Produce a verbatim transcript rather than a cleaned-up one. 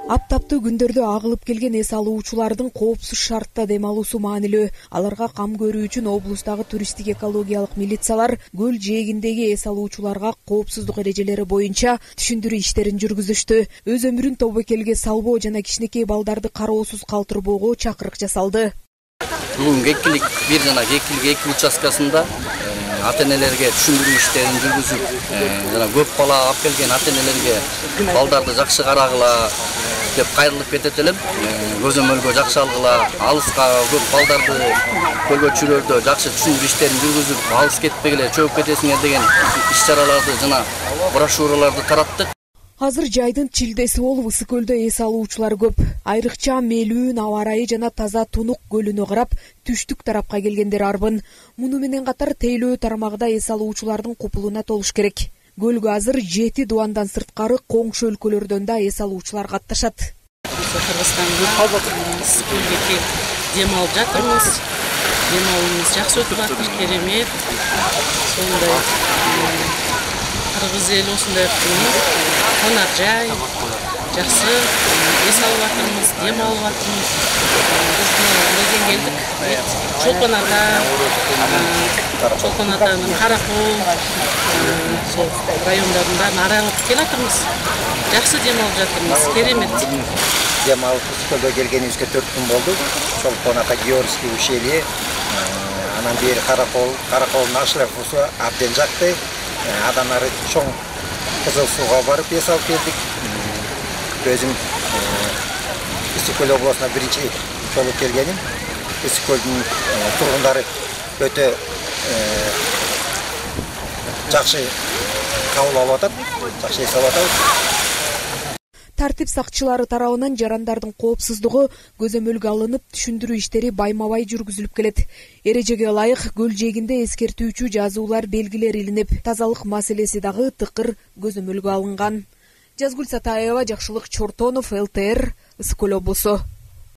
Аптаптуу күндөрдө агылып келген эс алуучулардын коопсуз шартта дем алуусу маанилүү. Аларга кам көрүү үчүн облустагы туристтик экологиялык милициялар көл жээгиндеги эс алуучуларга коопсуздук эрежелери боюнча түшүндүрүү иштерин жүргүзүштү. Өз өмүрүн тобокелге салбоо жана кичинекей балдарды кароосуз калтырбоого чакырык жасалды. Бүгүн экилик бир жана экилик эки участкасында ата энелерге түшүндүрүү иштерин жүргүзүп, жана көп бала алып келген ата энелерге балдарды жакшы карагыла деп кайрылып кетет элем. Көзөмөлгө жакшы алгыла, алыска көп балдарды көлгө жакшы түшүндүрүү иштерин жүргүзүп, алыс кетпегиле, чөгүп кетесиңер деген иш-чараларды жана брошюраларды тараттык. Азыр жайдын чилдеси болуп Ысык көлдө эс алуучулар көп. Айрыкча мелүүн аба ырайы жана таза Тунук көлүнө карап, түштүк тарапка келгендер арбын. Муну менен катар тейлөө тармагында эс алуучулардын купулуна толуш керек. Көлгө азыр жети дубандан сырткары коңшу өлкөлөрдөн да эс алуучулар катташат. Кыргызстанда Ысык көлгө келип дем алып жатырмыз. Дем алуубуз жакшы өтүп атат, керемет. Сондай Кыргыз эл осундай конак жай, жакшы эс алып атырмыз, дем алып атырмыз. Бизден келдик. Чолпон ата, Чолпон атанын Каракол, сол райондорунда аралап келатырмыз. Жакшы дем алып жатырмыз, керемет. Дем алып Ысык көлгө келгенибизге төрт күн болду. Чолпон ата, Георгиский ущелье, анан бери Каракол, Караколдун Ашлафусу абден жакты. Адан ары чоң Кызыл сууга барып эс алып келдик. Өзүм Ысык көл областына биринчи жолу келгеним. Ысык көлдүн тургундары өтө жакшы кабыл алып атат, жакшы эс алып атат. Тартип сакчылары тарабынан жарандардын коопсуздугу көзөмөлгө алынып, түшүндүрүү иштери байма-бай жүргүзүлүп келет. Эрежеге ылайык көл жээгинде эскертүүчү жазуулар, белгилер илинип, тазалык маселеси дагы тыкыр көзөмөлгө алынган. Жазгүл Сатаева, Жакшылык Чортонов, эл тэ эр, Ысык көл облусу.